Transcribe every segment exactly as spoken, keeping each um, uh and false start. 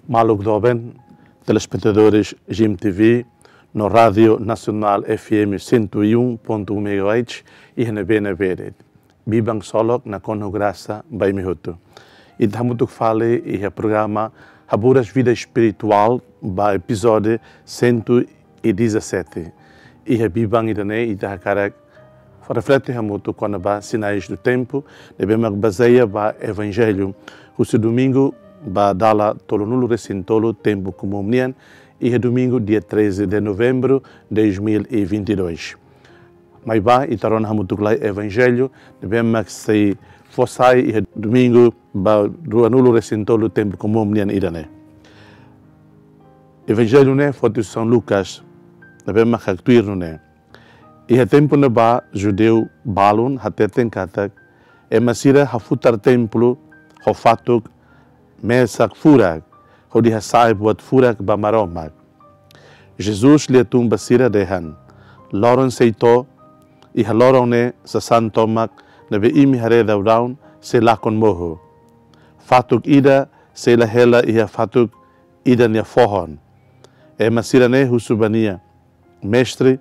Maluk doben, telespetadores G M T V, no Rádio Nacional F M cento e um ponto um megahertz, iha ne'ebé-ne'ebé de'it. Biban ksolok, nakonu grasa ba imi hotu. Ita hamutuk fali iha programa Haburas Vida Espiritual ba epizódiu cento e dezassete. Iha biban ida-ne'e ita hakarak reflete hamutuk kona-ba sinais do tempo, ne'ebé mak bazeia ba Evanjellu, husi domingu ba dala tolunulu-resin-tolu tempu komún nian, iha domingu dia treze de novembro dois mil e vinte e dois. Maibé ita rona hamutuk lai Evanjellu ne'ebé mak sei fó sai iha domingu ba ruanulu-resin-tolu tempu komún nian ida-ne'e. Evanjellu ne'e foti São Lucas, ne'ebé mak haktuir nune'e: Iha tempu ne'ebá judeu balun hateten katak ema sira hafutar templu ho fatuk mesak furak, hodi hasa'e buat furak ba Maromak. Jesus lia tun ba sira dehan: Loron sei to'o, iha loron ne'e sasán tomak ne'ebé imi haree daudaun sei lakon mohu. Fatuk ida sei la hela iha fatuk ida nia fohon. Ema sira-ne'e husu ba nia: Mestre,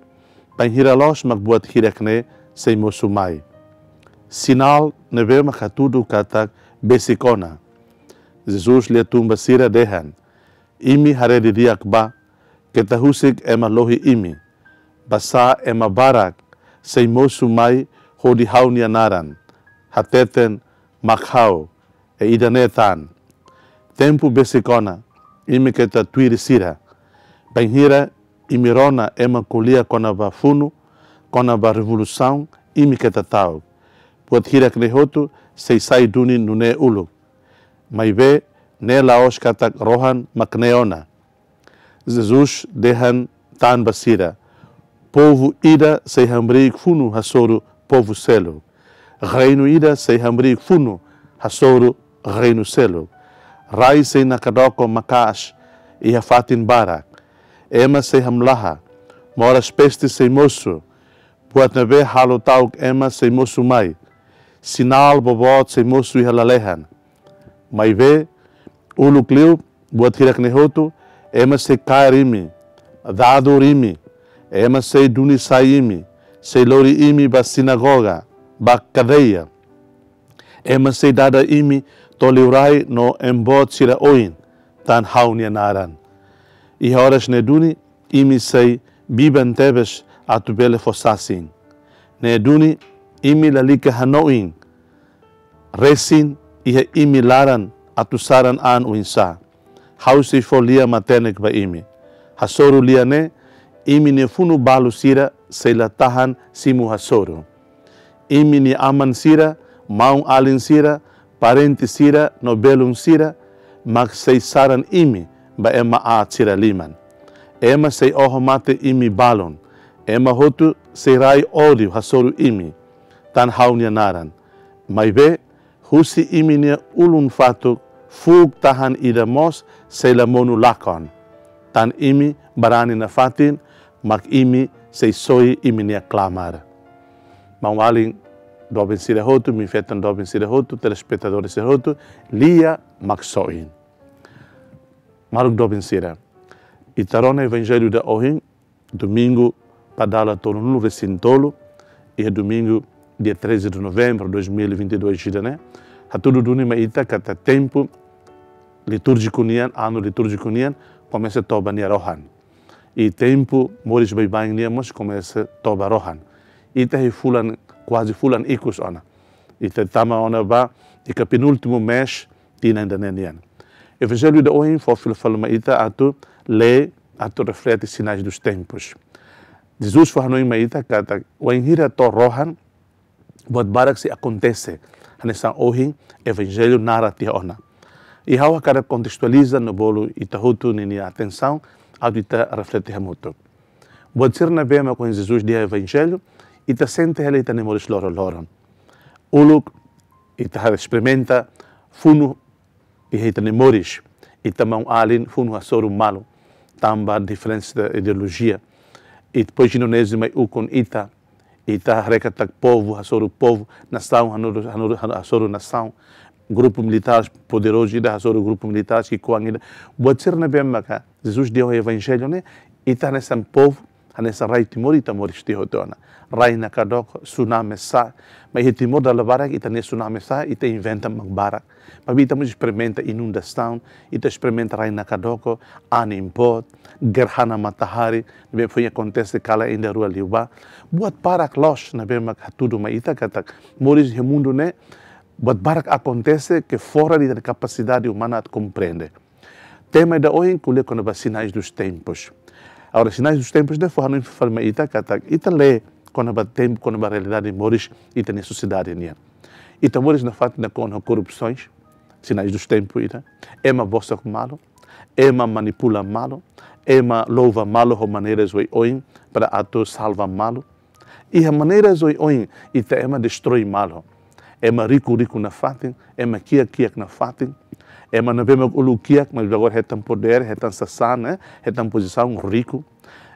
bainhira loos mak buat hirak ne'e sei mosu mai? Sinál ne'ebé mak hatudu katak besik ona? Jesus lia tun ba sira dehan: Imi haree didi'ak bá, keta husik ema lohi imi. Basá ema barak sei mosu mai hodi ha'u-nia naran, hateten: Mak ha'u, i ida-ne'e tan. Tempu besik ona, imi keta tuir sira. Bainhira imi rona ema ko'alia kona-ba funu, kona-ba revolusaun, imi keta ta'uk. Buat hirak ne'e hotu sei sai duni nune'e uluk. Maibé ne'e la'ós katak rohan mak ne'e ona. Jesus dehan tan ba sira: Povu ida sei hamriik funu hasoru povu seluk. Reinu ida sei hamriik funu hasoru reinu seluk. Rai sei nakdoko maka'as iha fatin barak. Ema sei hamlaha, moras peste sei mosu, buat ne'ebé halo ta'uk ema sei mosu mai. Sinál boboot sei mosu iha lalehan. Maibé uluk liu buat hirak ne'e hotu, ema sei kaer imi, dadur imi, ema sei duni sai imi, sei lori imi ba sinagoga, ba kadeia. Ema sei dada imi to'o liurai no emboot sira oin, tan ha'u-nia naran. Iha oras ne'e duni imi sei biban tebes atu bele fó sasin. Ne'e duni imi lalika hanoin resin iha imi laran atu saran an oinsá. Ha'u sei fó lia matenek ba imi. Hasoru lia ne'e, imi-nia funu balu sira sei la tahan simu hasoru. Imi-nia aman sira, maun-alin sira, parente sira no belun sira mak sei saran imi ba ema aat sira liman. Ema sei oho mate imi balun. Ema hotu sei rai ódiu hasoru imi, tan ha'u-nia naran. Maibé husi imi-nia ulun fatuk, fuuk tahan ida mós sei la monu lakon. Tan imi barani nafatin, mak imi sei soi imi-nia klamar. Maun-alin doben sira hotu, maun-feton doben sira hotu, telespetadores sira hotu, lia mak soin. Maluk doben sira, ita rona Evanjellu ida ohin, domingu ba dala tolunulu-resin-tolu, iha domingu dia treze de novembro dois mil e vinte e dois ida-ne'e, hatudu duni mai ita katak tempu litúrjiku nian, anu litúrjiku nian, komesa to'o ba nia rohan. I tempu moris baibain nian mós komesa to'o ba rohan. Ita iha fulan, kuaze fulan ikus ona. Ita tama ona ba iha penúltimu mês tinan ida-ne'e nian. Evanjellu ida ohin fó fila fali mai ita atu lee, atu reflete sinais dos tempos. Jesus fó hanoin mai ita katak wainhira to'o rohan, buat barak sei akontese, hanesan ohin Evanjellu narra tiha ona. I ha'u hakarak kontestualiza no bolu ita hotu ninia atensaun, atu ita reflete hamutuk. Buat sira ne'ebé mak ohin Jesus dehan iha Evanjellu, ita sente hela iha ita-nia moris loron-loron. Uluk ita esperimente funu iha ita-nia moris, ita maun-alin funu hasoru malu, tanba diferensa ideolojia. I depois Indonézia mai ukun ita, ita haree katak povu hasoru povu, nasaun hanoru, hanoru, hanoru, hasoru nasaun. grupu militár poderozu ida hasoru grupu militár ki'ikoan ida. Buat sira ne'ebé maka Jesus dehan iha Evanjellu ne'e, ita hanesan povu, hanesan rai Timor, ita moris tiha hotu ona. Rai nakdoko, tsunami sa'e, maibé iha Timor dala barak ita-nia tsunami sa'e, ita inventa mak barak. Maibé ita mós esperimenta inundasaun, ita esperimenta rai nakdoko, anin boot, gerhana matahari, ne'ebé foin akontese kalan ida rua liubá. Buat barak loos ne'ebé mak hatudu mai ita katak moris iha mundu ne'e, buat barak akontese ke fora de kapasidade umana atu komprende. Tema ida ohin ko'alia kona-ba sinais dos tempos. Agora, sinais dos tempos ne'e fó hanoin fali mai ita katak ita lee kona-ba tempu, kona-ba realidade moris ita-nia sosiedade nian. Ita moris nafatin nakonu ho korrupsaun, sinais dos tempos ida. Ema bosok malu, ema manipula malu, ema louva malu ho maneiras oioin para atu salva malu. Iha maneiras oioin ita ema destroi malu. Ema riku, riku nafatin, ema kiak, kiak nafatin. Ema ne'ebé mak uluk kiak, mas agora hetan podér, hetan sasán, eh, hetan pozisaun, riku.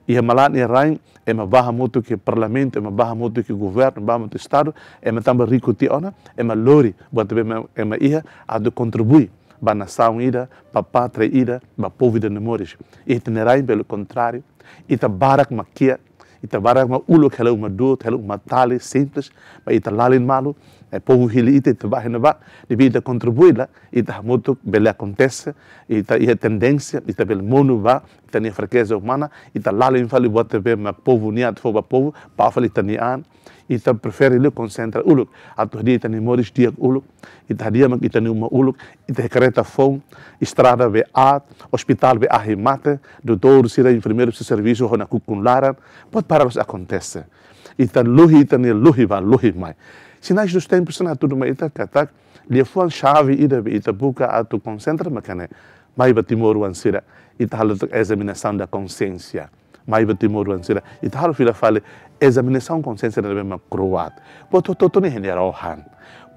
Iha malan iha rain, ema bá hamutuk iha parlamentu, ema bá hamutuk iha governu, bá hamutuk iha estadu, ema tanba riku tiha ona, ema lori buat ne'ebé ema, ema iha, atu kontribui ba nasaun ida, ba pátria ida, ba povu ida nia moris. Iha ita-nia rain, pelo contrário, ita barak mak kiak, ita barak mak uluk hela uma du'ut, hela uma tali, simples, maibé ita lalin malu, eh, povu hili ita, ita bá iha ne'ebá, ne'ebé ita kontribui la, ita hamutuk bele akontese, ita iha tendénsia, ita bele monu ba ita-nia frakeza umana, ita lalin fali buat ne'ebé mak povu nian atu fó ba povu, bá fali ita-nia an, ita prefere liu konsentra uluk, atu hadi'a ita-nia moris di'ak uluk, ita hadi'a mak ita-nia uma uluk, ita iha karreta foun, estrada be aat, ospitál be ahi mate, doutór sira, enfermeiru sira servisu ho nakukun laran, buat barak loos akontese. Ita luhi, ita-nia luhi bá, luhi mai. Sinais dos tempos ne'e hatudu mai ita katak, liafuan xave ida be ita buka atu konsentra maka ne'e, mai ba timoroan sira, ita halo tok examinação da consciência. Mai ba timoroan sira, ita halo fila fali examinasaun konsiénsia ne'ebé mak kro'at. Buat hotu-hotu ne'e iha nia rohan.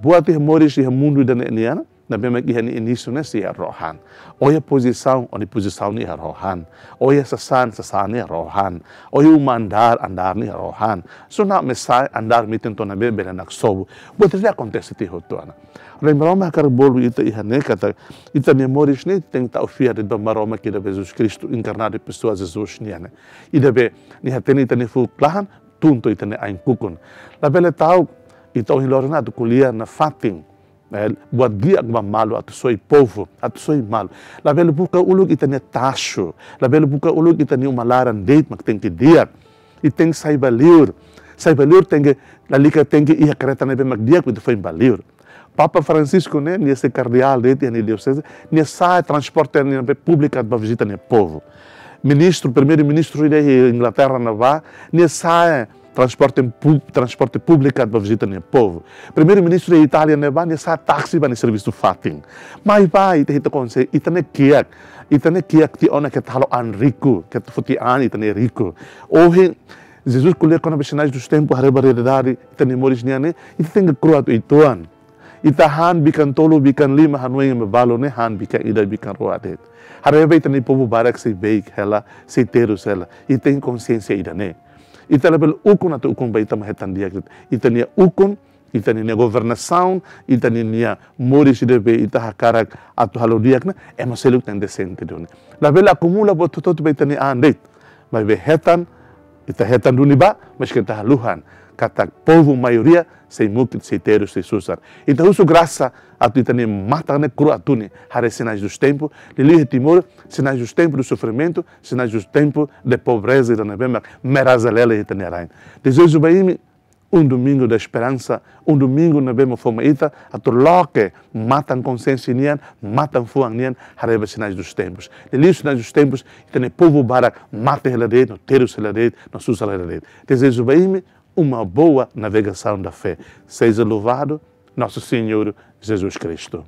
Buat iha moris iha mundu ida-ne'e nian, ne'ebé mak iha nia inísiu ne'e sei iha rohan. Ó-nia pozisaun, ó-nia pozisaun ne'e iha rohan. Ó-nia sasán, sasán ne'e iha rohan. Ó-nia uma andár, andár ne'e iha rohan. Tsunami sa'e, andár metin to'o ne'ebé bele naksobu. Buat ne'e akontese tiha hotu ona. Lembra Maromak hakarak bolu ita iha ne'e katak ita-nia moris ne'e tenke tau fiar de'it ba Maromak ida be Jesus Kristu enkarnadu, pesoa Jesus nian ne'e. Ida be nia hatene ita-nia fuuk laran, tun to'o ita-nia ain kukun. Labele ta'uk ita ohin loron atu ko'alia nafatin, eh, buat di'ak ba malu atu soi povu, atu soi malu. Labele buka uluk ita-nia taxu, labele buka uluk ita-nia uma laran de'it mak tenke di'ak. Ita tenke sai ba liur. Sai ba liur tenke, lalika tenke iha karreta ne'ebé mak di'ak atu foin ba liur. Papa Francisco ne'e, nia sai kardeál de'it iha nia dioseze, nia sa'e transporte ne'ebé públiku atu bá vizita nia povu. Ministru, primeiru-ministru ida iha Inglaterra ne'ebá, nia sa'e transporte pú-, transporte públiku atu bá vizita nia povu. Primeiru-ministru iha Itália ne'ebá, nia sa'e táksi ba nia servisu fatin. Maibé ita, ita konse-, ita ne'e kiak, ita ne'e kiak tiha ona keta halo an riku, keta foti an ita ne'e riku. Ohin, Jesus ko'alia kona-ba sinais dos tempos, haree ba realidade ita-nia moris nian ne'e, ita tenke kro'at uitoan. Ita han bikan tolu, bikan lima, hanoin ema balu ne'e han bikan ida, bikan rua de'it. Haree ba ita-nia povu barak sei beik hela, sei terus hela. Ita tenke konsiénsia ida-ne'e. Ita labele ukun atu ukun ba ita mak hetan di'ak de'it. Ita-nia ukun, ita-nia governasaun, ita-nia moris ida be ita hakarak atu halo di'ak ne'e, ema seluk tenke siente duni. Labele akumula buat hotu-hotu ba ita-nia an de'it. Maibé hetan, ita hetan duni ba, maske ita haluha katak povu maioria sei mukit, sei terus, sei susar. Ita husu grasa atu ita-nia matan ne'e kro'at duni, haree sinais dos tempos, liuliu iha Timor, sinais dos tempos do sofrimento, sinais dos tempos de pobreza ida ne'ebé mak mera-azelele iha ita-nia rain. Dezeja ba imi um domingo da esperança, um domingo ne'ebé mak fó mai ita atu loke matan konsiénsia nian, matan fuan nian, haree ba sinais dos tempos. Liuliu sinais dos tempos, ita-nia povu barak mate hela de'it, no terus hela de'it, no susar hela de'it. Dezeja ba imi uma boa navegação da fé. Seja louvado nosso Senhor Jesus Cristo.